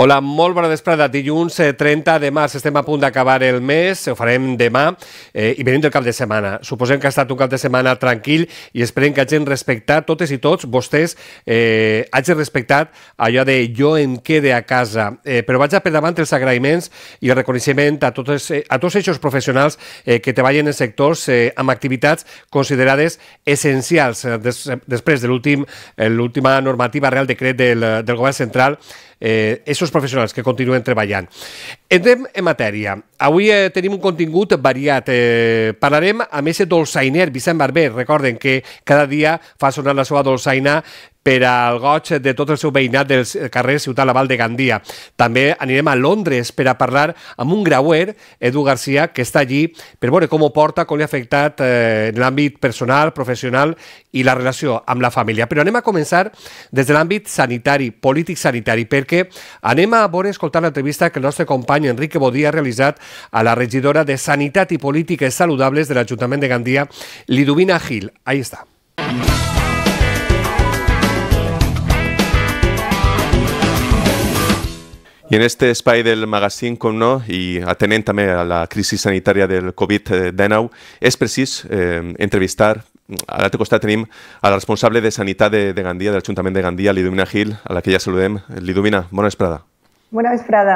Hola, molt bona vesprada. Dilluns 30 de març, estem a punt d'acabar el mes, ho farem demà i venim del cap de setmana. Suposem que ha estat un cap de setmana tranquil i esperem que hagin respectat, totes i tots, vostès, hagin respectat allò de jo em quede a casa. Però vaig a per davant els agraïments i el reconeixement a tots aquests professionals que treballen en sectors amb activitats considerades essencials després de l'última normativa Real Decret del Govern Central, aquests professionals que continuen treballant. Entrem en matèria. Avui tenim un contingut variat. Parlarem amb aquest dolçainer, Vicent Barber. Recorden que cada dia fa sonar la seva dolçaina per al goig de tot el seu veïnat del carrer Ciutat Laval de Gandia. També anirem a Londres per a parlar amb un grauer, Edu Garcia, que està allí per veure com ho porta, com li ha afectat en l'àmbit personal, professional i la relació amb la família. Però anem a començar des de l'àmbit sanitari, polític-sanitari, perquè anem a veure, escoltar l'entrevista que el nostre company Enrique Bodí ha realitzat a la regidora de Sanitat i Polítiques Saludables de l'Ajuntament de Gandia, Liduvina Gil. Ahí està. I en este espai del magazín, com no, i atenent també a la crisi sanitària del Covid-19, és precís entrevistar. A l'altre costat tenim a la responsable de Sanitat de Gandia, de l'Ajuntament de Gandia, Liduvina Gil, a la que ja saludem. Liduvina, bona vesprada. Bona vesprada.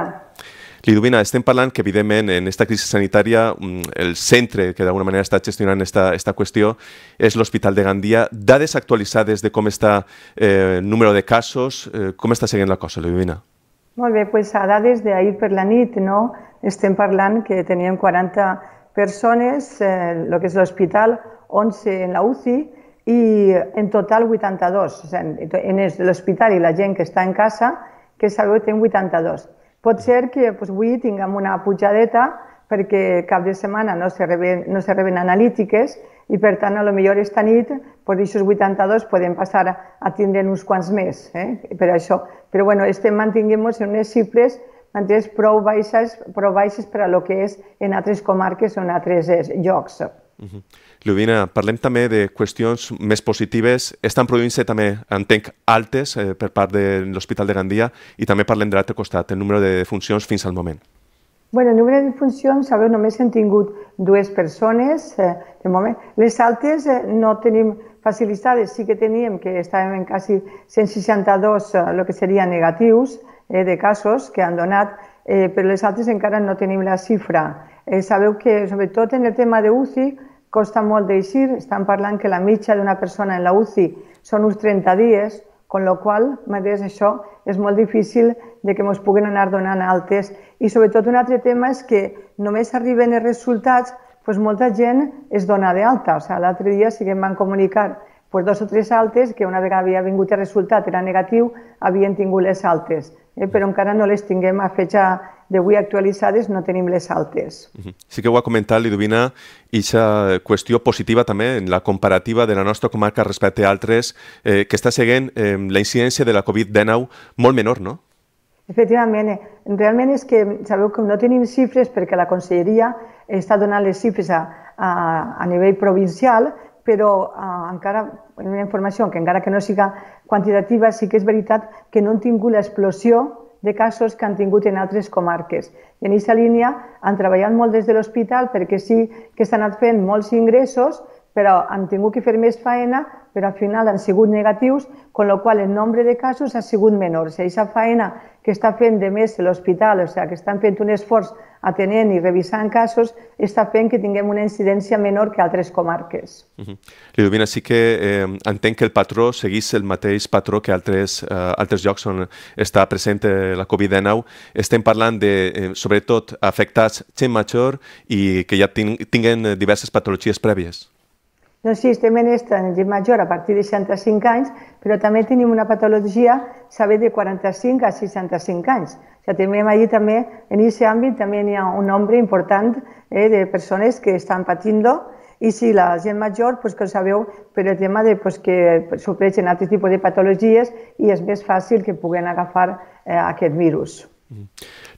Liduvina, estem parlant que, evidentment, en aquesta crisi sanitària, el centre que d'alguna manera està gestionant esta qüestió és l'Hospital de Gandia. Dades actualitzades de com està el número de casos, com està seguint la cosa, Liduvina? Molt bé, doncs a dades d'ahir per la nit, no? Estem parlant que teníem 40 persones, el que és l'hospital, 11 en la UCI i en total 82. En l'hospital i la gent que està en casa, que sabeu que tenim 82. Pot ser que avui tinguem una pujadeta perquè cap de setmana no se reben analítiques i per tant, potser esta nit, d'aquests 82 podem passar a tindre uns quants més, per això. Però bueno, estem mantenint en unes xifres prou baixes per a lo que és en altres comarques o en altres llocs. Liduvina, parlem també de qüestions més positives. Estan produint-se també, entenc, altes per part de l'Hospital de Gandia i també parlem de l'altre costat, el número de defuncions fins al moment. Bueno, el número de defuncions, sabeu, només hem tingut 2 persones de moment. Les altes no tenim facilitades, sí que teníem que estàvem en quasi 162 el que serien negatius de casos que han donat, però les altres encara no tenim la xifra. Sabeu que, sobretot en el tema de UCI, costa molt d'eixir. Estan parlant que la mitja d'una persona en la UCI són uns 30 dies, amb la qual cosa això és molt difícil que ens puguin anar donant altes. I sobretot un altre tema és que només arriben els resultats, molta gent es dona d'alta. L'altre dia sí que em van comunicar 2 o 3 altes que una vegada havia vingut el resultat, era negatiu, havien tingut les altes. Però encara no les tinguem a fecha d'avui actualitzades, no tenim les altes. Sí que ho ha comentat, Liduvina, i aquesta qüestió positiva també en la comparativa de la nostra comarca respecte a altres, que està seguint la incidència de la Covid-19 molt menor, no? Efectivament, realment és que sabeu que no tenim xifres perquè la Conselleria està donant les xifres a nivell provincial, però encara, una informació que encara que no siga quantitativa, sí que és veritat que no han tingut l'explosió de casos que han tingut en altres comarques. I en aquesta línia han treballat molt des de l'hospital perquè sí que s'han anat fent molts ingressos, però han tingut que fer més feina, però al final han sigut negatius, amb la qual el nombre de casos ha sigut menor. Aquesta feina que està fent de més l'hospital, que estan fent un esforç atenent i revisant casos, està fent que tinguem una incidència menor que altres comarques. Liduvina, sí que entenc que el patró seguís el mateix patró que altres llocs on està present la Covid-19. Estem parlant de, sobretot, afectats gent major i que ja tinguen diverses patologies prèvies. Doncs sí, estem en gent major a partir de 65 anys, però també tenim una patologia, saber, de 45 a 65 anys. Tenim allí també, en aquest àmbit, també hi ha un nombre important de persones que estan patint-lo, i sí, la gent major, que ho sabeu, per el tema que sofreixen altres tipus de patologies i és més fàcil que puguen agafar aquest virus.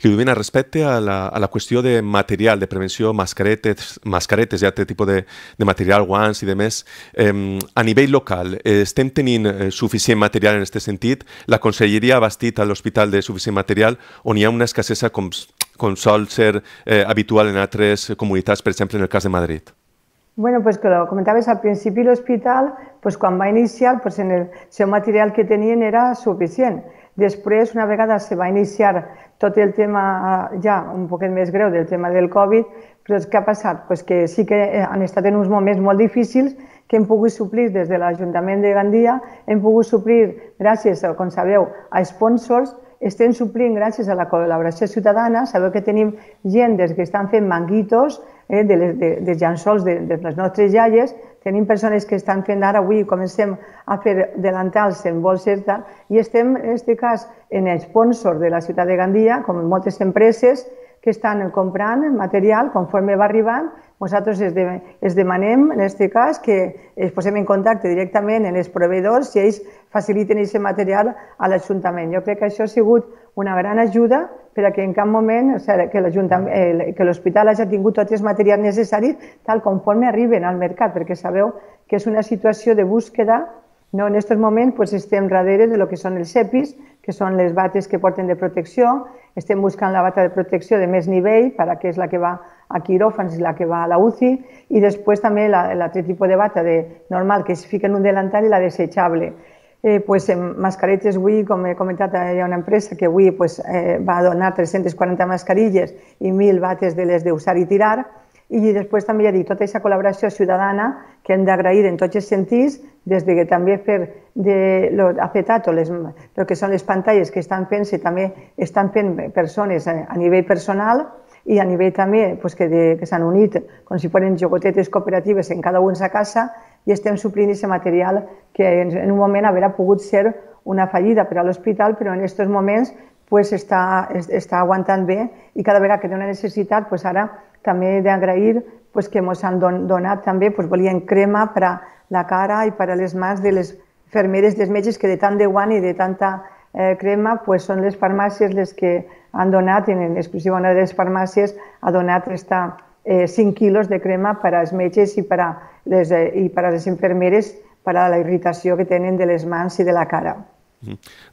Ludmila, respecte a la qüestió de material, de prevenció, mascaretes i altre tipus de material, guants i demés, a nivell local, estem tenint suficient material en aquest sentit? La Conselleria ha bastit a l'hospital de suficient material o n'hi ha una escassesa com sol ser habitual en altres comunitats, per exemple en el cas de Madrid? Bueno, pues que lo comentaves al principi, l'hospital, pues quan va iniciar, pues en el seu material que tenien era suficient. Després, una vegada se va iniciar tot el tema ja un poquet més greu del tema del Covid, però què ha passat? Pues que sí que han estat en uns moments molt difícils que hem pogut suplir des de l'Ajuntament de Gandia, hem pogut suplir, gràcies, com sabeu, a sponsors, estem suplint gràcies a la col·laboració ciutadana. Sabeu que tenim gent des que estan fent manguitos, de llençols de les nostres iaies, tenim persones que estan fent ara, avui comencem a fer delantals en bolses, i estem, en aquest cas, en sponsor de la ciutat de Gandia, com moltes empreses que estan comprant material conforme va arribant. Nosaltres es demanem, en aquest cas, que es posem en contacte directament amb els proveïdors si ells faciliten aquest material a l'Ajuntament. Jo crec que això ha sigut una gran ajuda perquè en cap moment que l'hospital hagi tingut tots els materials necessaris tal conforme arriben al mercat, perquè sabeu que és una situació de búsqueda. En aquests moments estem darrere del que són els EPIs, que són les bates que porten de protecció. Estem buscant la bata de protecció de més nivell, que és la que va a quiròfans i la que va a la UCI, i després també l'altre tipus de bata normal que es fica en un delantal i la desechable. Mascaretes, avui, com he comentat, hi ha una empresa que avui va donar 340 mascarilles i 1.000 bates de les d'usar i tirar. I després també hi ha tota aquesta col·laboració ciutadana que hem d'agrair en tots els sentits, des de també fer afectat el que són les pantalles que estan fent-se, també estan fent persones a nivell personal i a nivell també que s'han unit com si fossin jogotetes cooperatives en cada un a casa, i estem suplint aquest material que en un moment hauria pogut ser una fallida per a l'hospital, però en aquests moments està aguantant bé, i cada vegada que té una necessitat, ara també he d'agrair que ens han donat també, volien crema per a la cara i per a les mans de les infermeres, dels metges, que de tant de guant i de tanta crema són les farmàcies les que han donat, en exclusiva una de les farmàcies ha donat 5 quilos de crema per als metges i per a les infermeres per a la irritació que tenen de les mans i de la cara.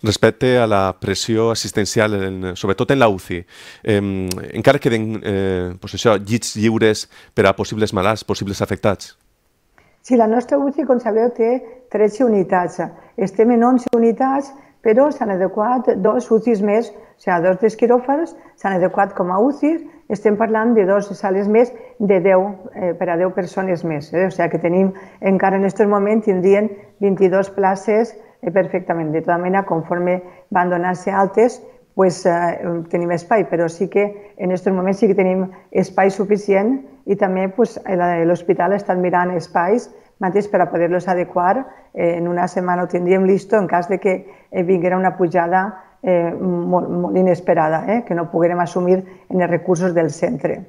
Respecte a la pressió assistencial, sobretot en la UCI, encara queden llits lliures per a possibles malalts, possibles afectats? Sí, la nostra UCI, com sabeu, té 13 unitats. Estem en 11 unitats, però s'han adequat 2 UCIs més, o sigui, 2 dels quiròfans s'han adequat com a UCIs. Estem parlant de 2 sales més per a 10 persones més. O sigui que tenim, encara en aquest moment, tindrien 22 places perfectament. De tota manera, conforme van donar-se altes, tenim espai, però sí que en aquests moments sí que tenim espai suficient, i també l'hospital ha estat mirant espais mateix per a poder-los adequar. En una setmana ho tindríem listo en cas de que vinguera una pujada molt inesperada, que no poguérem assumir en els recursos del centre.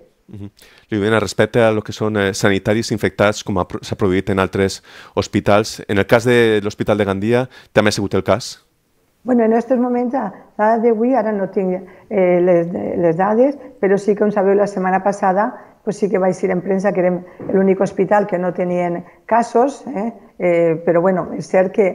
Ludmila, respecte a lo que són sanitaris infectats, com s'ha produït en altres hospitals, en el cas de l'Hospital de Gandia també ha sigut el cas? En aquests moments, a data d'avui, ara no tinc les dades, però sí que, com sabeu, la setmana passada sí que vaig dir en premsa que érem l'únic hospital que no tenien casos, però és cert que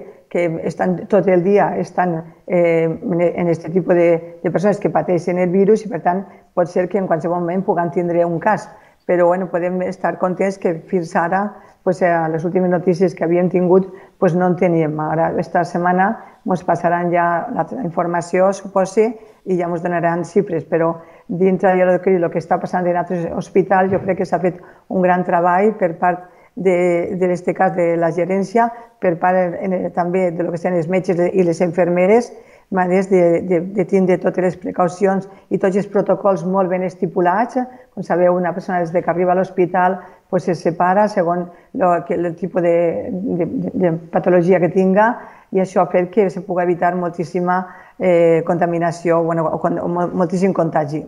tot el dia estan en aquest tipus de persones que pateixen el virus, i per tant pot ser que en qualsevol moment puguem tindre un cas. Però podem estar contents que fins ara, a les últimes notícies que havíem tingut, no en teníem. Ara, aquesta setmana, ens passaran ja la informació, suposo, i ja ens donaran xifres, però dintre del que està passant en altres hospitals, jo crec que s'ha fet un gran treball per part en aquest cas de la gerència, per part també del que són els metges i les infermeres, de tindre totes les precaucions i tots els protocols molt ben estipulats. Com sabeu, una persona des que arriba a l'hospital se separa segons el tipus de patologia que tinga, i això ha fet que se pugui evitar moltíssima contaminació o moltíssim contagi.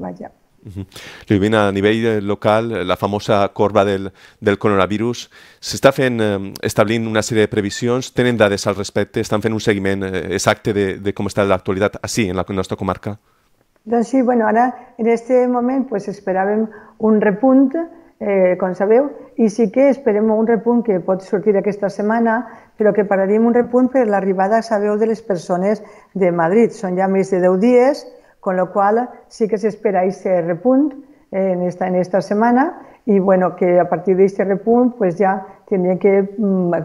Ludmila, a nivell local, la famosa corba del coronavirus, s'està establint una sèrie de previsions, tenen dades al respecte, estan fent un seguiment exacte de com està l'actualitat així, en la nostra comarca? Doncs sí, bueno, ara en aquest moment pues, esperàvem un repunt, com sabeu, i sí que esperem un repunt que pot sortir aquesta setmana, però que pararíem un repunt per l'arribada, sabeu, de les persones de Madrid. Són ja més de 10 dies, con lo qual sí que s'espera aquest repunt en esta setmana i bueno, que a partir d'aquest repunt pues, ja tindria que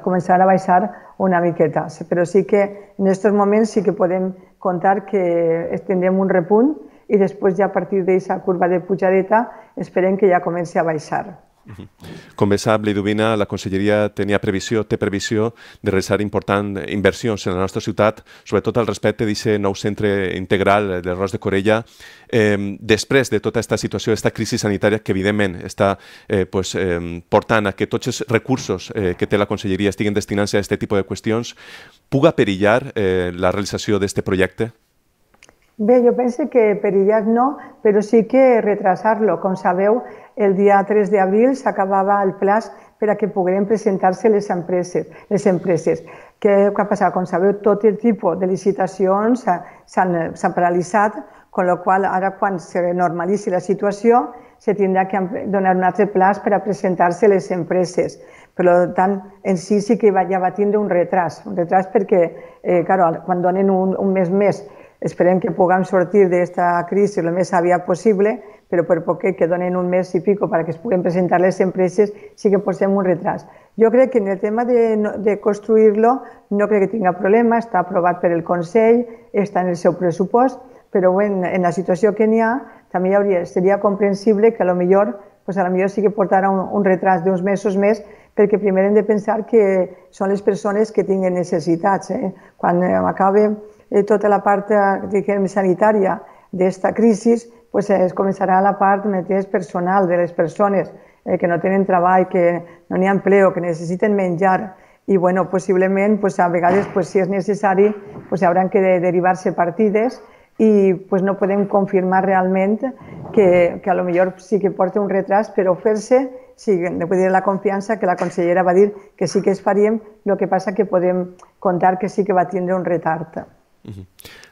començar a baixar una miqueta. Però sí que en aquests moments sí que podem contar que tindrem un repunt i després ja a partir d'aquesta curva de pujadeta esperem que ja comenci a baixar. Com bé sap, Liduvina, la Conselleria té previsió de realitzar importants inversions en la nostra ciutat, sobretot al respecte d'aquest nou centre integral del Ros de Corella. Després de tota aquesta situació, aquesta crisi sanitària que evidentment està portant a que tots els recursos que té la Conselleria estiguen destinant-se a aquest tipus de qüestions, puga perillar la realització d'aquest projecte? Bé, jo penso que perillar no, però sí que retrasar-lo. Com sabeu, el dia 3 d'abril s'acabava el plaç per a que pogueren presentar-se les empreses. Què ha passat? Com sabeu, tot el tipus de licitacions s'han paralitzat, amb la qual ara quan se normalitzi la situació se tindrà que donar un altre plaç per a presentar-se les empreses. Per tant, en sí que ja va tindre un retras perquè, quan donen un mes més, esperem que puguem sortir d'aquesta crisi el més aviat possible, però per poquet que donen un mes i pico perquè es puguen presentar les empreses, sí que posem un retras. Jo crec que en el tema de construir-lo no crec que tinga problema, està aprovat per el Consell, està en el seu pressupost, però en la situació que n'hi ha també seria comprensible que potser sí que portarà un retras d'uns mesos més, perquè primer hem de pensar que són les persones que tinguen necessitats. Quan acabi tota la part sanitària d'aquesta crisi, es començarà la part més personal de les persones que no tenen treball, que no n'hi ha empleo, que necessiten menjar i possiblement a vegades si és necessari hauran que derivar-se partides i no podem confirmar realment que a lo millor sí que porta un retras, però fer-se, sí, de dir la confiança que la consellera va dir que sí que es faríem, el que passa que podem contar que sí que va tindre un retard.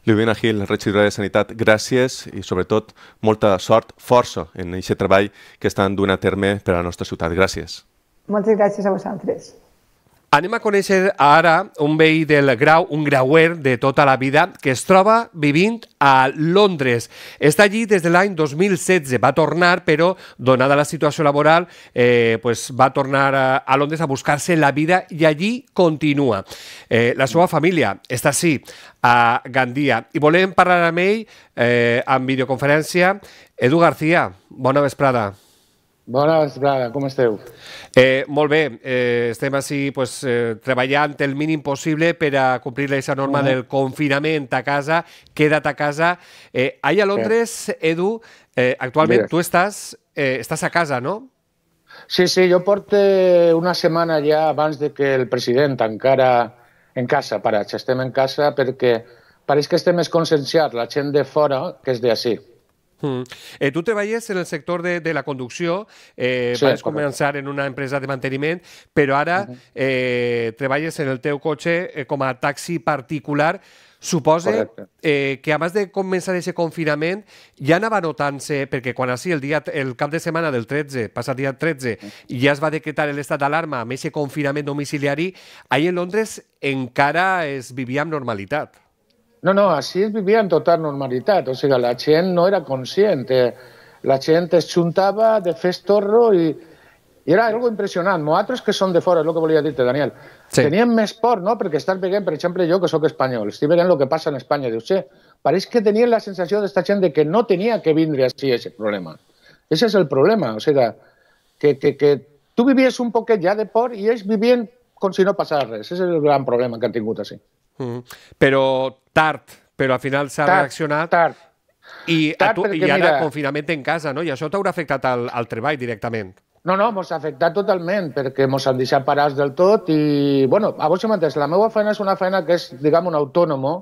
Liduvina Gil, regidora de Sanitat, gràcies i sobretot molta sort, força en aquest treball que estan duent a terme per a la nostra ciutat. Gràcies. Moltes gràcies a vosaltres. Anem a conèixer ara un veí del Grau, un grauer de tota la vida, que es troba vivint a Londres. Està allí des de l'any 2016, va tornar, però donada la situació laboral, va tornar a Londres a buscar-se la vida i allí continua. La seva família està així, a Gandia, i volem parlar amb ell en videoconferència. Edu García, bona vesprada. Bona vesprada, com esteu? Molt bé, estem així treballant el mínim possible per a complir aquesta norma del confinament a casa, queda't a casa. Allà a Londres, Edu, actualment tu estàs a casa, no? Sí, jo porto una setmana ja abans de que el president encara en casa, parats, estem en casa perquè pareix que estem més conscienciats, la gent de fora que és d'ací. Tu treballes en el sector de la conducció, vas començar en una empresa de manteniment, però ara treballes en el teu cotxe com a taxi particular. Suposa que abans de començar aquest confinament ja anava notant-se, perquè quan així el cap de setmana del 13, passat dia 13, ja es va decretar l'estat d'alarma amb aquest confinament domiciliari, ahir en Londres encara es vivia amb normalitat. No, així es vivia en total normalitat, o sigui, la gent no era conscient, la gent es juntava de fer estorro i era algo impressionant. Nosaltres que som de fora, és el que volia dir-te, Daniel, teníem més por, no?, perquè estàs veient, per exemple, jo que sóc espanyol, estic veient el que passa en Espanya, dius, pareix que tenien la sensació d'esta gent de que no tenia que vindre així aquest problema. Ese és el problema, o sigui, que tu vivies un poquet ja de por i ells vivien com si no passava res. Ese és el gran problema que han tingut així. Però al final s'ha reaccionat i ara confinament en casa, no? I això t'haurà afectat al treball directament. No, mos ha afectat totalment perquè mos han deixat parats del tot i, bueno, a vos mateix, la meva feina és una feina que és, diguem, un autònomo,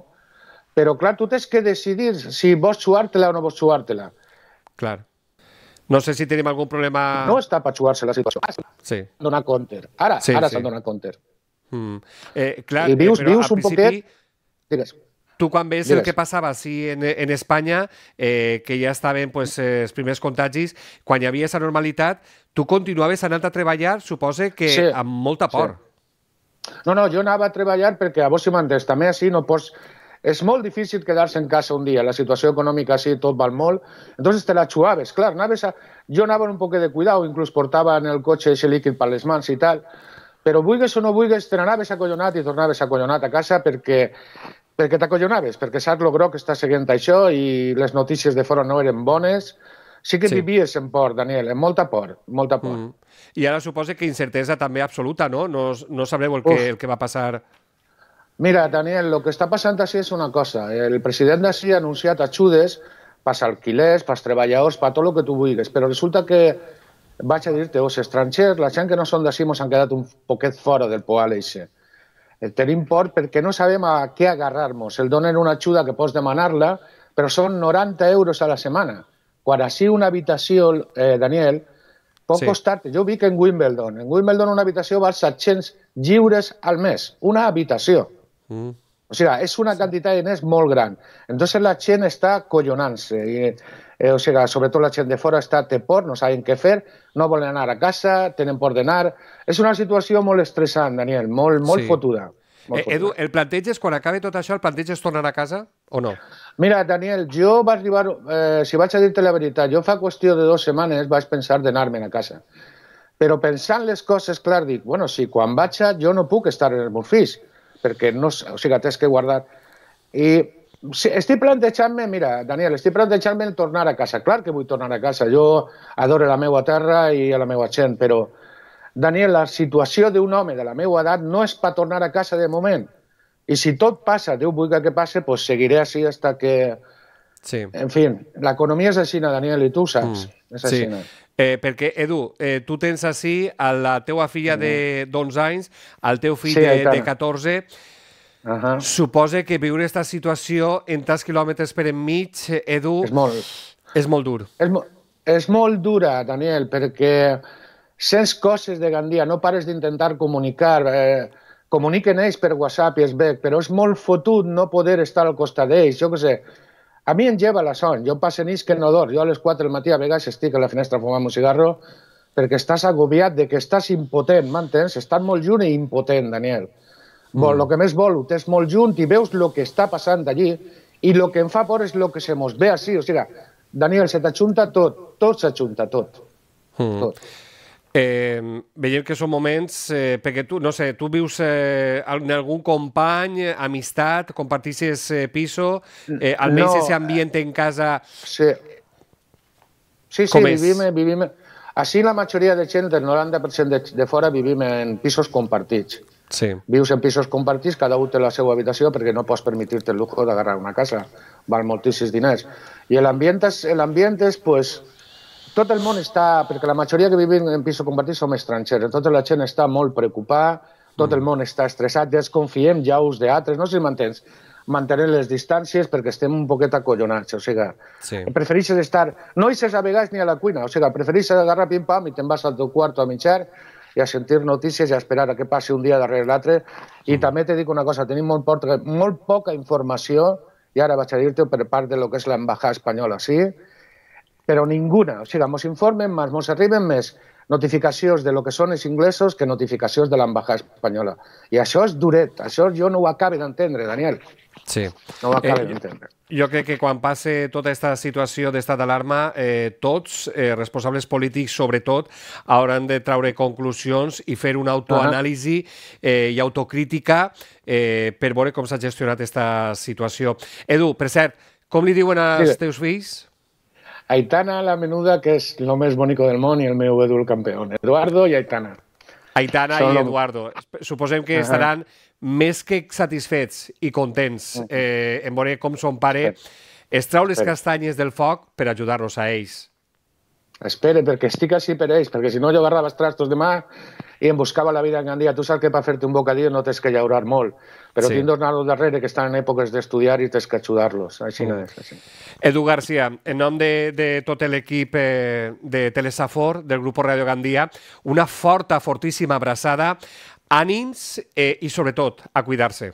però, clar, tu tens que decidir si vols xuar-te-la o no vols xuar-te-la. Clar. No sé si tenim algun problema... No està per xuar-se la situació. Sí. Donar compte. Ara s'han donat compte. Clar, i vius un poquet... Digues. tu quan ves el que passava així en Espanya, que ja estaven els primers contagis, quan hi havia aquesta normalitat, tu continuaves anant a treballar, suposa que amb molta por. No, jo anava a treballar perquè, a vos si m'entens, també així no pots... És molt difícil quedar-se en casa un dia, la situació econòmica així tot val molt, entonces te la xuaves, clar, jo anava un poc de cuidado, inclús portava en el cotxe ese líquid per les mans i tal, però vulguis o no vulguis, te n'anaves acollonat i tornaves acollonat a casa perquè t'acollonaves, perquè saps lo groc que està seguint això i les notícies de fora no eren bones. Sí que vivies en por, Daniel, amb molta por, molta por. I ara suposa que incertesa també absoluta, no? No sabreu el que va passar. Mira, Daniel, lo que està passant així és una cosa. El president d'ací ha anunciat ajudes pels alquilers, pels treballadors, per tot el que tu vulguis, però resulta que, vaig a dir-te, els estrangers, la gent que no són d'ací, ens han quedat un poquet fora del poal eixe. Tenim por perquè no sabem a què agarrar-nos. El donen una ajuda que pots demanar-la, però són 90 euros a la setmana. Quan així una habitació, Daniel, pot costar-te... Jo vic en Wimbledon. En Wimbledon una habitació val 700 lliures al mes. Una habitació. O sigui, és una quantitat de diners molt gran. Entonces la gent està collonant-se. O sigui, sobretot la gent de fora té por, no saben què fer, no volen anar a casa, tenen por d'anar... És una situació molt estressant, Daniel, molt fotuda. Edu, el planteges, quan acabi tot això, el planteges tornar a casa o no? Mira, Daniel, jo vaig arribar, si vaig a dir-te la veritat, jo fa qüestió de 2 setmanes vaig pensar d'anar-me'n a casa. Però pensant les coses, clar, dic, bueno, si quan vaig jo no puc estar en els meus fills, perquè no, o sigui, tens que guardar. I estic plantejant-me, mira, Daniel, estic plantejant-me el tornar a casa. Clar que vull tornar a casa, jo adoro la meva terra i a la meva gent, però, Daniel, la situació d'un home de la meva edat no és per tornar a casa de moment. I si tot passa, Déu vulgui que passi, doncs seguiré així fins que... Sí. En fi, l'economia és així, Daniel, i tu ho saps. És així. Perquè, Edu, tu tens així a la teua filla d'11 anys, al teu fill de 14. Suposa que viure aquesta situació en tants quilòmetres per enmig, Edu, és molt dur. És molt dura, Daniel, perquè sents coses de Gandia, no pares d'intentar comunicar, comuniquen ells per WhatsApp i es veig, però és molt fotut no poder estar al costat d'ells, jo què sé. A mi em lleva la son, jo passo nits que no dorm, jo a les 4 del matí a vegades estic a la finestra fumant un cigarro perquè estàs agobiat de que estàs impotent, m'entens? Estàs molt junt i impotent, Daniel. El que més vol, ho tens molt junt i veus el que està passant allí i el que em fa por és el que se mos ve així, o sigui, Daniel, se t'ajunta tot, tot s'ajunta, tot. Veiem que són moments, perquè tu, no sé, tu vius en algun company, amistat, compartixes piso, almenys ese ambient en casa... Sí, vivim... Així la majoria de gent, el 90% de fora, vivim en pisos compartits. Vius en pisos compartits, cada un té la seva habitació perquè no pots permetir-te el lujo d'agarrar una casa, val moltíssims diners. I l'ambient és, pues... Tot el món està, perquè la majoria que vivim en pisos compartits som estrangers, tota la gent està molt preocupada, tot el món està estressat, desconfiem ja uns d'altres, no sé si m'entens, mantenir les distàncies perquè estem un poquet acollonats, o sigui, prefereixes estar, no eixes a vegades ni a la cuina, o sigui, prefereixes agarrar pim-pam i te'n vas al teu quarto a mitjar i a sentir notícies i a esperar a que passi un dia darrere l'altre, i també te dic una cosa, tenim molt poca informació, i ara vaig a dir-te per part de lo que és l'embajada espanyola, sí? Però ninguna, o sigui, ens informen més, ens arriben més notificacions de lo que són els inglesos que notificacions de l'embajada espanyola. I això és duret, això jo no ho acabo d'entendre, Daniel. Sí. No ho acabo d'entendre. Jo crec que quan passe tota aquesta situació d'estat d'alarma, tots, responsables polítics sobretot, hauran de traure conclusions i fer una autoanàlisi i autocrítica per veure com s'ha gestionat aquesta situació. Edu, per cert, com li diuen als teus fills? Aitana, la menuda, que és el més bonic del món, i el meu Edu, el campió. Eduardo i Aitana. Aitana i Eduardo. Suposem que estaran més que satisfets i contents en veure com son pare es trau les castanyes del foc per ajudar-los a ells. Espera, perquè estic així per ells, perquè si no jo agarrava els trastos demà i em buscava la vida en Gandia. Tu saps que per fer-te un bocadillo no tens que llaurar molt, però tinc dos nanos darrere que estan en èpoques d'estudiar i tens que ajudar-los. Així no és. Edu García, en nom de tot l'equip de Telesafor, del Grup Radio Gandia, una forta, fortíssima abraçada, ànims i, sobretot, a cuidar-se.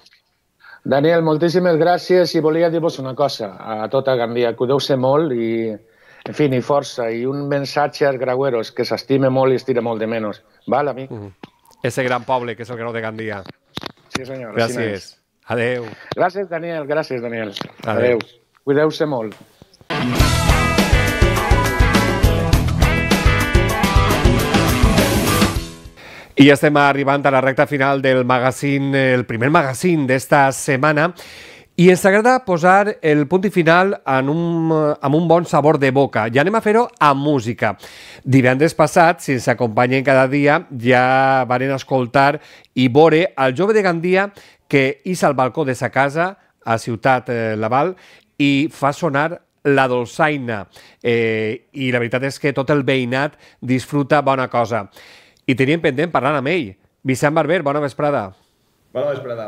Daniel, moltíssimes gràcies i volia dir-vos una cosa a tota Gandia. Cuideu-se molt i, en fi, i força. I un missatge als graueros, que s'estime molt i es tira molt de menys. Val, amic? Ese gran poble que és el Grau de Gandia. Sí, senyor. Gràcies. Adeu. Gràcies, Daniel. Gràcies, Daniel. Adeu. Cuideu-se molt. I ja estem arribant a la recta final del magazín, el primer magazín d'esta setmana, i ens agrada posar el punt i final amb un bon sabor de boca. Ja anem a fer-ho amb música. Divendres passat, si ens acompanyen cada dia, ja van escoltar i veure el jove de Gandia que ix al balcó de sa casa a Ciutat Laval i fa sonar la dolçaina. I la veritat és que tot el veïnat disfruta bona cosa. I teníem pendent parlant amb ell. Vicent Barber, bona vesprada. Bona vesprada.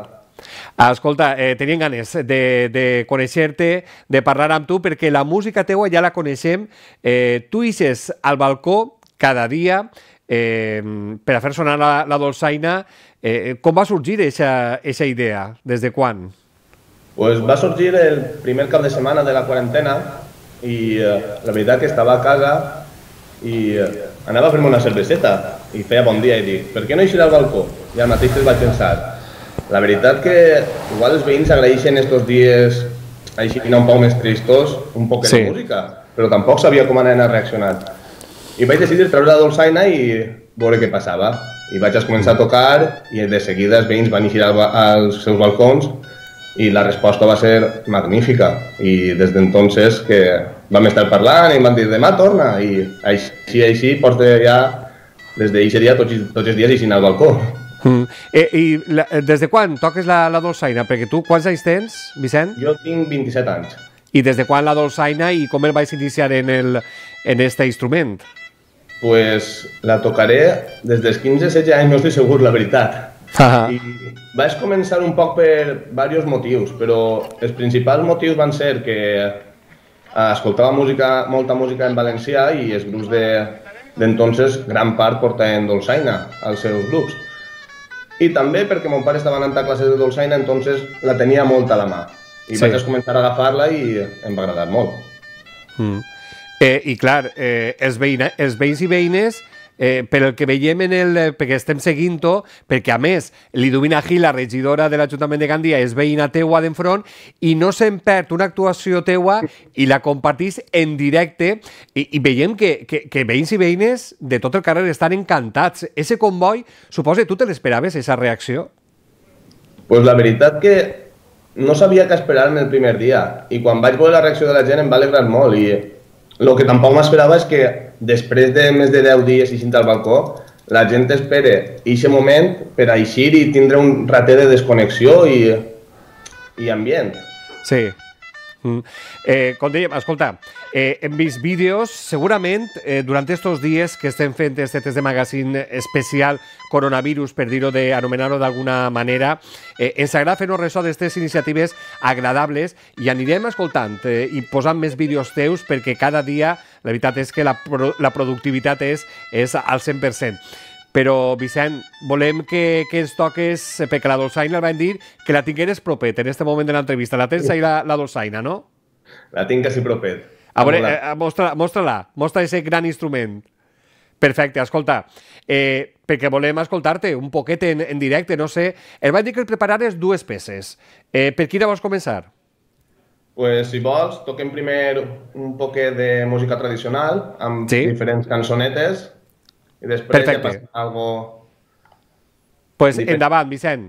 Escolta, teníem ganes de conèixer-te, de parlar amb tu, perquè la música teua ja la coneixem. Tu ixes al balcó cada dia per a fer sonar la dolçaina. Com va sorgir aquesta idea? Des de quan? Pues va sorgir el primer cap de setmana de la quarantena i la veritat que estava a casa i anava a fer-me una cerveseta i feia bon dia i dic, per què no eixir al balcó? I al mateix vaig pensar, la veritat que igual els veïns agraeixen estos dies així un poc més tristos, un poc de música, però tampoc sabia com anaven a reaccionar. I vaig decidir treure la dolçaina i veure què passava. I vaig començar a tocar i de seguida els veïns van eixir als seus balcons i la resposta va ser magnífica. I des d'entonces que vam estar parlant i em van dir demà torna i així porto ja des d'aquest dia tots els dies eixint al balcó. I des de quan toques la dolçaina? Perquè tu quants anys tens, Vicent? Jo tinc 27 anys. I des de quan la dolçaina i com el vaig iniciar en este instrument? Pues la tocaré des dels 15-16 anys, no estic segur, la veritat. I vaig començar un poc per diversos motius, però els principals motius van ser que escoltava molta música en valencià i els grups d'entonces gran part portaven dolçaina als seus grups. I també perquè mon pare estava anant a classes de dolçaina, entonces la tenia molt a la mà. I vaig començar a agafar-la i em va agradar molt. I clar, els veïns i veïnes, pel que veiem perquè estem seguint-ho, perquè a més Liduvina Gil, la regidora de l'Ajuntament de Gandia, és veïna teua d'enfront i no se'n perd una actuació teua i la compartís en directe i veiem que veïns i veïnes de tot el carrer estan encantats. Ese comboi, suposa, tu te l'esperaves, esa reacció? Pues la veritat que no sabia què esperar-me el primer dia i quan vaig veure la reacció de la gent em va alegrar molt i el que tampoc m'esperava és que després de més de 10 dies eixint al balcó la gent espera aquest moment per a eixir i tindre un ratet de desconnexió i ambient. Sí. Com dèiem, escolta, hem vist vídeos, segurament, durant aquests dies que estem fent este test de magazine especial coronavirus, per dir-ho, anomenar-ho d'alguna manera, ens agrada fer-nos ressò d'aquestes iniciatives agradables i anirem escoltant i posant més vídeos teus perquè cada dia la veritat és que la productivitat és al 100%. Però, Vicent, volem que ens toques, perquè la dolçaina el van dir que la tingueres propet en aquest moment de l'entrevista. La tens ahí la dolçaina, no? La tinc quasi propet. A veure, mostra-la, mostra aquest gran instrument. Perfecte, escolta, perquè volem escoltar-te un poquet en directe, no sé. El vaig dir que el preparares dues peces. Per quina vols començar? Pues, si vols, toquem primer un poquet de música tradicional amb diferents cançonetes. I després ja passa algo... Pues endavant, Vicent.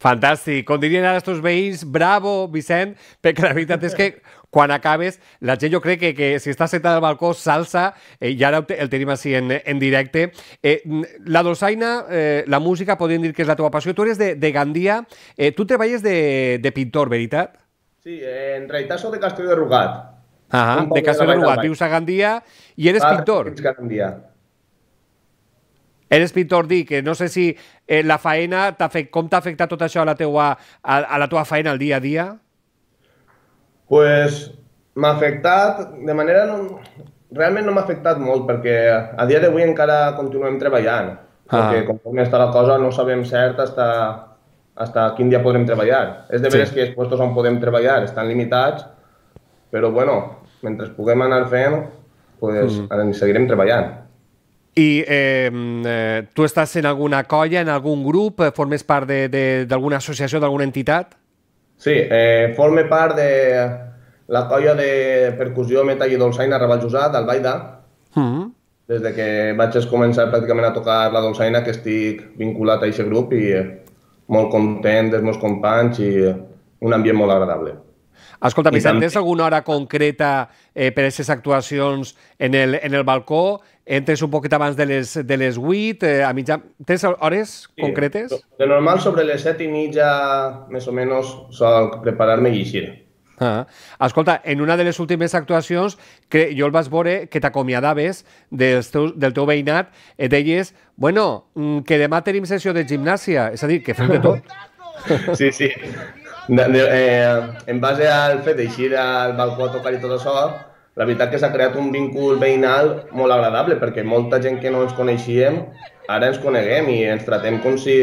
Fantàstic. Com dirien ara els teus veïns, bravo, Vicent, perquè la veritat és que quan acabes, la gent jo crec que si està sentada al balcó salsa, i ara el tenim així en directe. La dolçaina, la música, podríem dir que és la teva passió. Tu eres de Gandia, tu treballes de pintor, veritat? Sí, en realitat soc de Castelló de Rugat. De Castelló de Rugat, vius a Gandia i eres pintor. Eres pintor, dic, no sé si la faena, com t'ha afectat tot això a la teva faena al dia a dia? Pues m'ha afectat de manera... Realment no m'ha afectat molt, perquè a dia d'avui encara continuem treballant. Perquè conforme està la cosa no sabem cert hasta quin dia podrem treballar. És de veres que els puestos on podem treballar estan limitats, però bueno, mentre puguem anar fent, pues seguirem treballant. I tu estàs en alguna colla, en algun grup? Formes part d'alguna associació, d'alguna entitat? Sí, forme part de la colla de percussió, metall i dolçaina Ravallusà, d'Albaida. Des que vaig començar pràcticament a tocar la dolçaina, que estic vinculat a aquest grup i molt content dels meus companys i un ambient molt agradable. Escolta, Vicent, tens alguna hora concreta per a aquestes actuacions en el balcó? Entres un poquet abans de les 8, a mitjà... Tens hores concretes? De normal, sobre les 7:30, més o menys, sol preparar-me i eixir. Escolta, en una de les últimes actuacions, jo el vaig veure que t'acomiadaves del teu veïnat, et deies, bueno, que demà tenim sessió de gimnàsia, és a dir, que fem de tot. Sí, sí. En base al fet d'eixir al balcó a tocar i tot això, la veritat que s'ha creat un vínculo veïnal molt agradable, perquè molta gent que no ens coneixíem, ara ens coneguem i ens tratem com si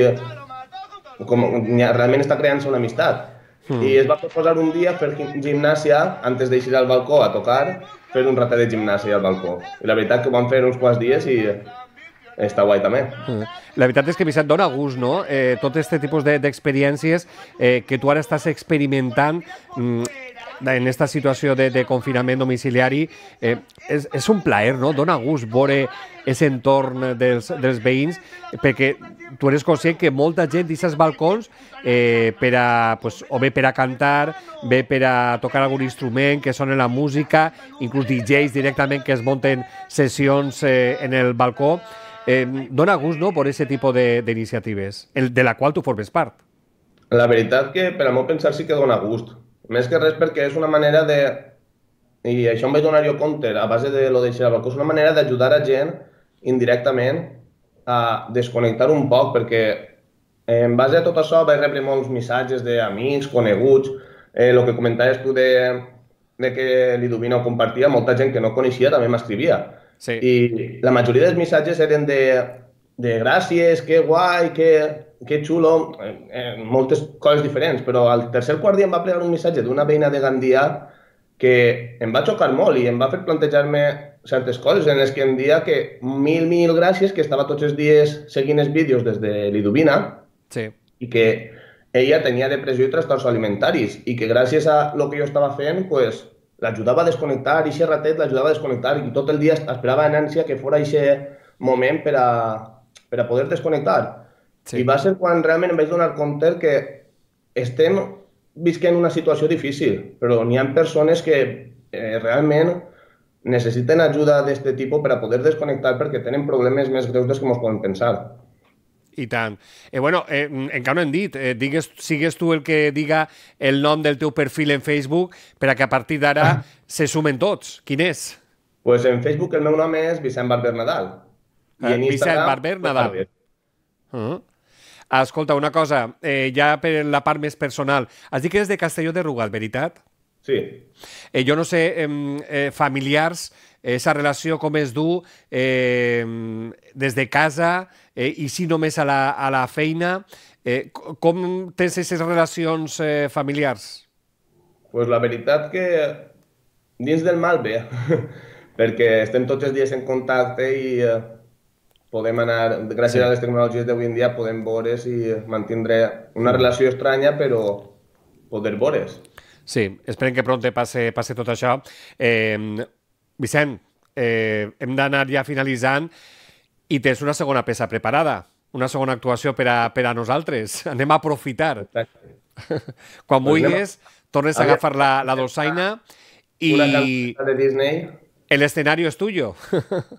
realment està creant-se una amistat. I es va proposar un dia fer gimnàsia, antes d'eixir al balcó a tocar, fer un ratet de gimnàsia al balcó. I la veritat que ho vam fer uns quants dies i està guai també. La veritat és que, Vicent, dona gust, no? Tot aquest tipus d'experiències que tu ara estàs experimentant en aquesta situació de confinament domiciliari, és un plaer, no? Dona gust veure aquest entorn dels veïns, perquè tu eres conscient que molta gent d'aquests balcons, o bé per a cantar, bé per a tocar algun instrument, que sona la música, inclús DJs directament que es munten sessions en el balcó, dona gust, no?, per aquest tipus d'iniciatives, de la qual tu formes part. La veritat que, per al meu pensar, sí que dona gust. Més que res perquè és una manera de... I això em vaig donar jo compte, a base de lo d'eixir al balcó, és una manera d'ajudar a gent indirectament a desconnectar un poc, perquè en base a tot això vaig rebre molts missatges d'amics, coneguts, el que comentaves tu de que Liduvina ho compartia, molta gent que no coneixia també m'escrivia. I la majoria dels missatges eren de gràcies, que guai, que xulo, moltes coses diferents, però al tercer quart dia em va plegar un missatge d'una veïna de Gandia que em va xocar molt i em va fer plantejar-me certes coses en les que em dia que mil gràcies, que estava tots els dies seguint els vídeos des de Liduvina i que ella tenia depressió i trastorns alimentaris i que gràcies a el que jo estava fent, l'ajudava a desconnectar, i aquest ratet l'ajudava a desconnectar i tot el dia esperava en ànsia que fos aquest moment per a poder desconnectar. I va ser quan realment em vaig donar compte que estem visquent una situació difícil, però n'hi ha persones que realment necessiten ajuda d'aquest tipus per a poder desconnectar perquè tenen problemes més greus dels que ens podem pensar. I tant. Bueno, encara no hem dit, sigues tu el que diga el nom del teu perfil en Facebook per a que a partir d'ara se sumen tots. Quin és? Pues en Facebook el meu nom és Vicent Barber Nadal. Vicent Barber Nadal. Escolta, una cosa, ja per la part més personal, has dit que eres de Castelló de Rugat, veritat? Sí. Jo no sé, familiars, aquesta relació com es du des de casa i si només a la feina, com tens aquestes relacions familiars? Pues la veritat que dins del mal bé, perquè estem tots els dies en contacte i podem anar, gràcies a les tecnologies d'avui en dia, podem veure's i mantindre una relació estranya, però poder veure's. Sí, esperem que pront passe tot això. Vicent, hem d'anar ja finalitzant i tens una segona peça preparada. una segona actuació per a nosaltres. Anem a aprofitar. Exacte. Quan vulguis, tornes a agafar la dolçaina i de Disney. el escenario es tuyo.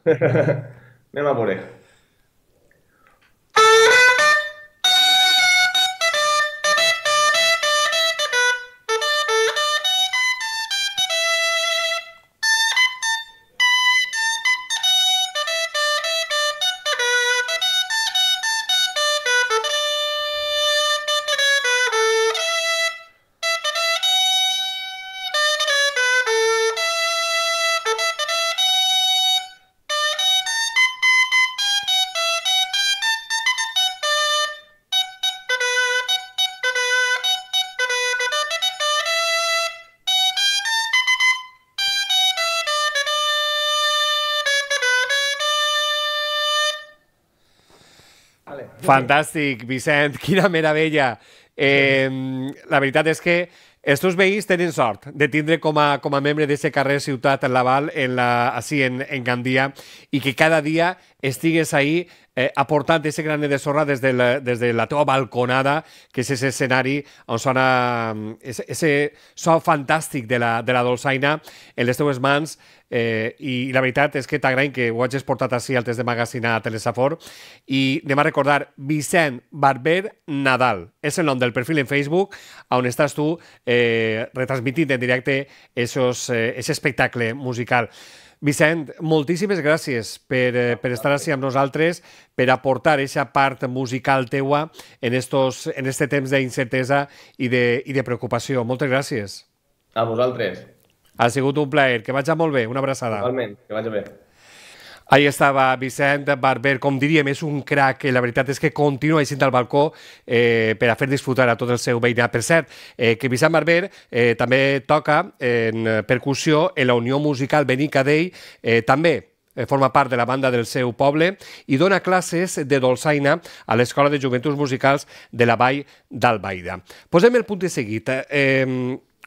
Anem a veure. Fantàstic, Vicent, quina meravella. La veritat és que els teus veïns tenen sort de tindre com a membre d'aquest carrer Ciutat Laval així en Gandia i que cada dia estigues ahí aportant aquest granet de sorra des de la teva balconada, que és aquest escenari on sona aquest so fantàstic de la dolçaina en les teves mans, i la veritat és que t'agraïm que ho hagis portat així al test de magazina a Telesafor. I anem a recordar, Vicent Barber Nadal és el nom del perfil en Facebook on estàs tu retransmitint en directe aquest espectacle musical. Vicent, moltíssimes gràcies per estar així amb nosaltres, per aportar aquesta part musical teua en este temps d'incertesa i de preocupació. Moltes gràcies. A vosaltres. Ha sigut un plaer. Que vagi molt bé. Una abraçada. Igualment, que vagi bé. Ahí estava Vicent Barber, com diríem, és un crac. La veritat és que continua així al balcó per a fer disfrutar a tot el seu veïnat. Per cert, que Vicent Barber també toca en percussió en la Unió Musical Benicadell, també forma part de la banda del seu poble i dona classes de dolçaina a l'Escola de Joventuts Musicals de la Vall d'Albaida. Posem el punt de seguit.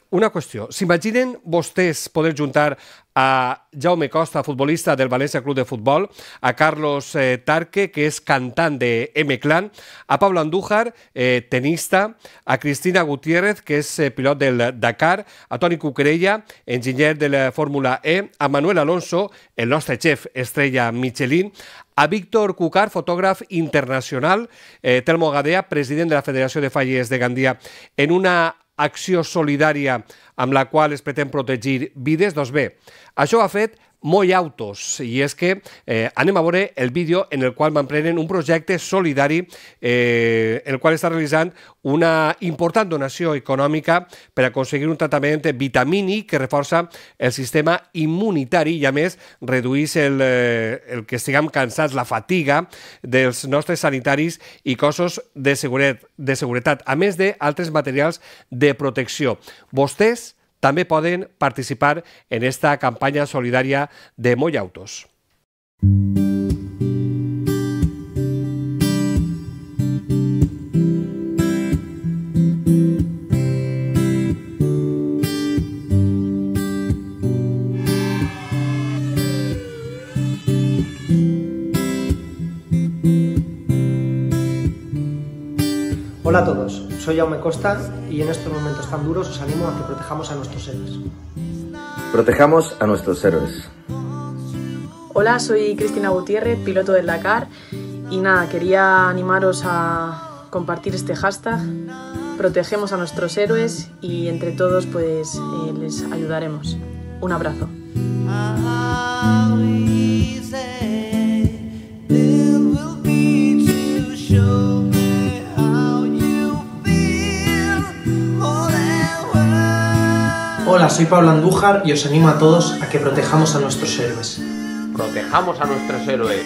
Una qüestió. S'imaginen vostès poder juntar a Jaume Costa, futbolista del València Club de Futbol, a Carlos Tarque, que és cantant de M-Clan, a Pablo Andújar, tenista, a Cristina Gutiérrez, que és pilot del Dakar, a Toni Cuquerella, enginyer de la Fórmula E, a Manuel Alonso, el nostre xef estrella Michelin, a Víctor Cucar, fotògraf internacional, Telmo Gadea, president de la Federació de Fallers de Gandia, en una acció solidària amb la qual es pretén protegir vides. Doncs bé, això ho ha fet Moy Autos, i és que anem a veure el vídeo en el qual m'emprenen un projecte solidari en el qual està realitzant una important donació econòmica per aconseguir un tractament vitamínic que reforça el sistema immunitari i, a més, redueix el que estiguem cansats, la fatiga dels nostres sanitaris i cossos de seguretat, a més d'altres materials de protecció. Vostès també poden participar en esta campanya solidària de Moy Autos. Hola a todos, soy Jaume Costa y en estos momentos tan duros os animo a que protejamos a nuestros héroes. Protejamos a nuestros héroes. Hola, soy Cristina Gutiérrez, piloto del Dakar, y nada, quería animaros a compartir este hashtag, protegemos a nuestros héroes, y entre todos pues les ayudaremos. Un abrazo. Hola, soy Pablo Andújar y os animo a todos a que protejamos a nuestros héroes. Protejamos a nuestros héroes.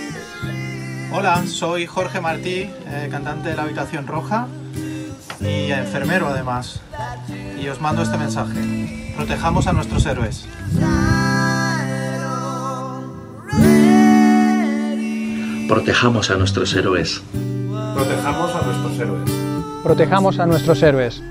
Hola, soy Jorge Martí, cantante de La Habitación Roja y enfermero además. Y os mando este mensaje. Protejamos a nuestros héroes. Protejamos a nuestros héroes. Protejamos a nuestros héroes. Protejamos a nuestros héroes.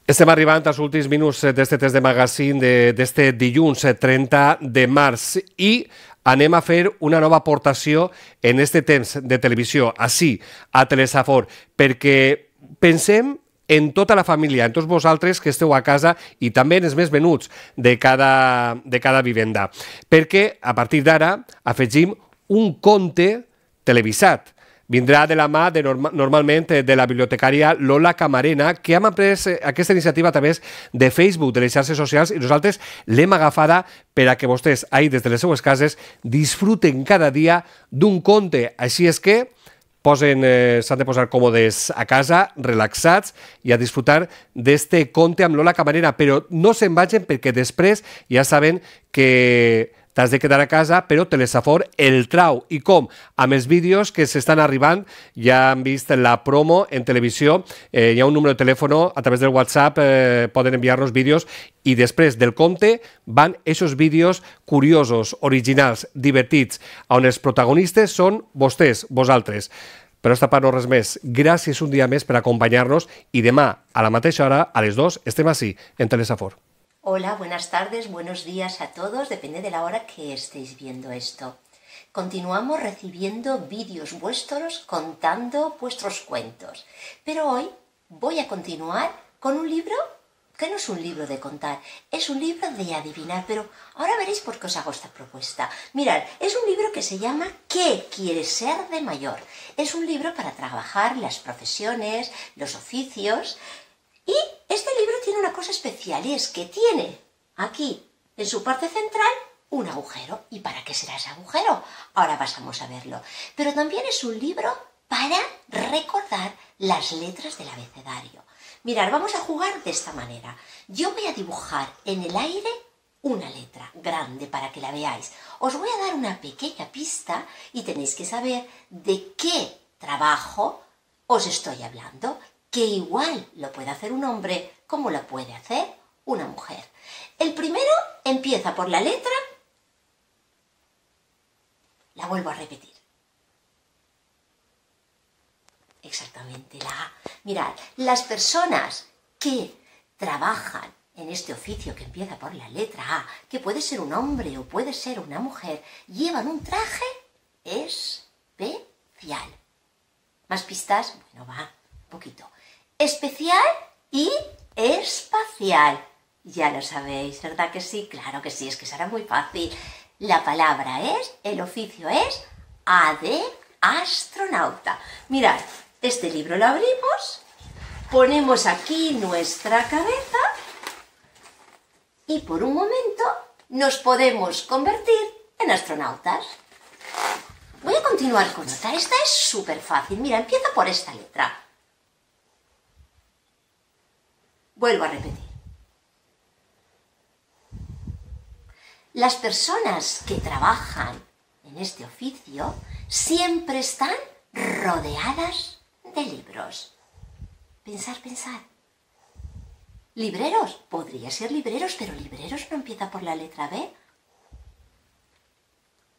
Estem arribant als últims minuts d'este test de magazine d'este dilluns 30 de març i anem a fer una nova aportació en este temps de televisió, així, a Telesafor, perquè pensem en tota la família, en tots vosaltres que esteu a casa i també en els més venuts de cada vivenda. Perquè a partir d'ara afegim un conte televisat. Vindrà de la mà normalment de la bibliotecària Lola Camarena, que hem après aquesta iniciativa a través de Facebook, de les xarxes socials, i nosaltres l'hem agafada per a que vostès, ahí des de les seues cases, disfruten cada dia d'un conte. Així és que s'han de posar còmodes a casa, relaxats, i a disfrutar d'este conte amb Lola Camarena, però no se'n vagin perquè després ja saben que t'has de quedar a casa, però Telesafor el trau. I com? Amb els vídeos que s'estan arribant, ja han vist la promo en televisió, hi ha un número de telèfon, a través del WhatsApp poden enviar-nos vídeos, i després del conte van aquests vídeos curiosos, originals, divertits, on els protagonistes són vostès, vosaltres. Per esta part no res més. Gràcies un dia més per acompanyar-nos i demà, a la mateixa hora, a les 2, estem ací, en Telesafor. Hola, buenas tardes, buenos días a todos, depende de la hora que estéis viendo esto. Continuamos recibiendo vídeos vuestros contando vuestros cuentos, pero hoy voy a continuar con un libro que no es un libro de contar, es un libro de adivinar, pero ahora veréis por qué os hago esta propuesta. Mirad, es un libro que se llama ¿Qué quieres ser de mayor? Es un libro para trabajar las profesiones, los oficios. Y este libro tiene una cosa especial, y es que tiene aquí, en su parte central, un agujero. ¿Y para qué será ese agujero? Ahora pasamos a verlo. Pero también es un libro para recordar las letras del abecedario. Mirad, vamos a jugar de esta manera. Yo voy a dibujar en el aire una letra grande para que la veáis. Os voy a dar una pequeña pista y tenéis que saber de qué trabajo os estoy hablando, que igual lo puede hacer un hombre como lo puede hacer una mujer. El primero empieza por la letra, la vuelvo a repetir. Exactamente, la A. Mirad, las personas que trabajan en este oficio que empieza por la letra A, que puede ser un hombre o puede ser una mujer, llevan un traje especial. ¿Más pistas? Bueno, va, un poquito. Especial y espacial. Ya lo sabéis, ¿verdad que sí? Claro que sí, es que será muy fácil. La palabra es, el oficio es A de astronauta. Mirad, este libro lo abrimos, ponemos aquí nuestra cabeza y por un momento nos podemos convertir en astronautas. Voy a continuar con otra. Esta es súper fácil. Mira, empieza por esta letra. Vuelvo a repetir. Las personas que trabajan en este oficio siempre están rodeadas de libros. Pensar, pensar. ¿Libreros? Podría ser libreros, pero libreros no empieza por la letra B.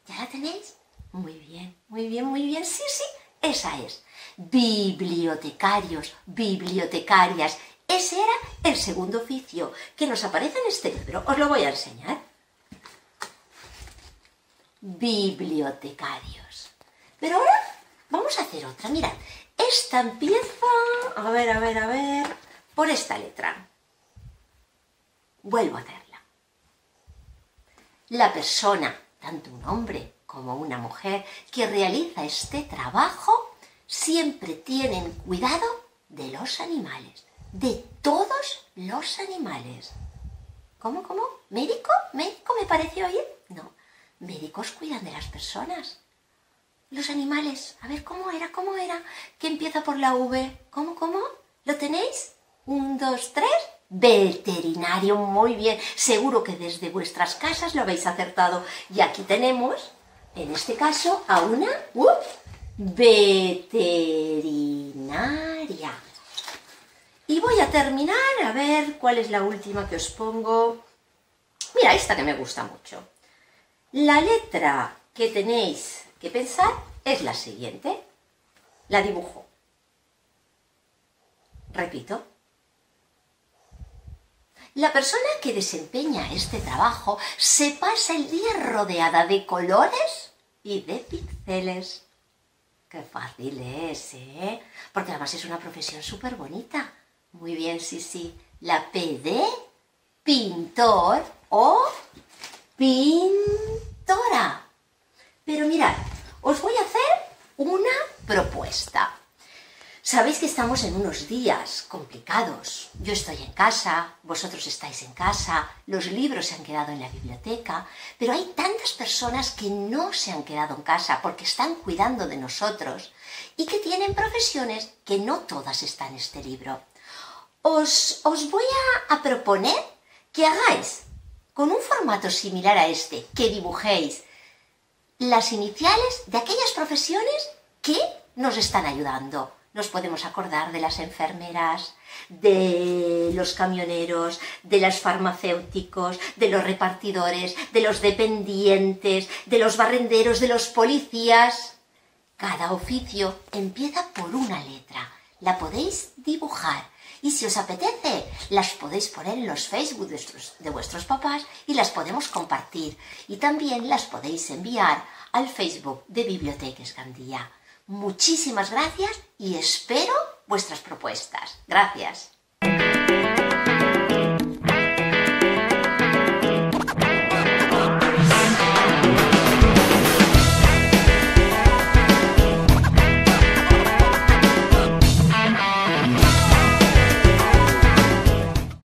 ¿Ya la tenéis? Muy bien, muy bien, muy bien. Sí, sí, esa es. Bibliotecarios, bibliotecarias. Ese era el segundo oficio que nos aparece en este libro. Os lo voy a enseñar. Bibliotecarios. Pero ahora vamos a hacer otra. Mirad, esta empieza... A ver... por esta letra. Vuelvo a hacerla. La persona, tanto un hombre como una mujer, que realiza este trabajo, siempre tienen cuidado de los animales. De todos los animales. ¿Cómo? ¿Médico? ¿Médico me pareció oír? No. Médicos cuidan de las personas. Los animales. A ver, ¿cómo era? ¿Qué empieza por la V? ¿Cómo? ¿Lo tenéis? 1, 2, 3. Veterinario. Muy bien. Seguro que desde vuestras casas lo habéis acertado. Y aquí tenemos, en este caso, a una veterinaria. Y voy a terminar, a ver cuál es la última que os pongo. Mira, esta que me gusta mucho. La letra que tenéis que pensar es la siguiente. La dibujo. Repito. La persona que desempeña este trabajo se pasa el día rodeada de colores y de pinceles. Qué fácil es, ¿eh? Porque además es una profesión súper bonita. Muy bien, sí. La P de pintor o pintora. Pero mirad, os voy a hacer una propuesta. Sabéis que estamos en unos días complicados. Yo estoy en casa, vosotros estáis en casa, los libros se han quedado en la biblioteca, pero hay tantas personas que no se han quedado en casa porque están cuidando de nosotros y que tienen profesiones que no todas están en este libro. Os voy a proponer que hagáis con un formato similar a este, que dibujéis las iniciales de aquellas profesiones que nos están ayudando. Nos podemos acordar de las enfermeras, de los camioneros, de los farmacéuticos, de los repartidores, de los dependientes, de los barrenderos, de los policías. Cada oficio empieza por una letra. La podéis dibujar y si os apetece, las podéis poner en los Facebook de vuestros papás y las podemos compartir. Y también las podéis enviar al Facebook de Biblioteques Gandía. Muchísimas gracias y espero vuestras propuestas. Gracias.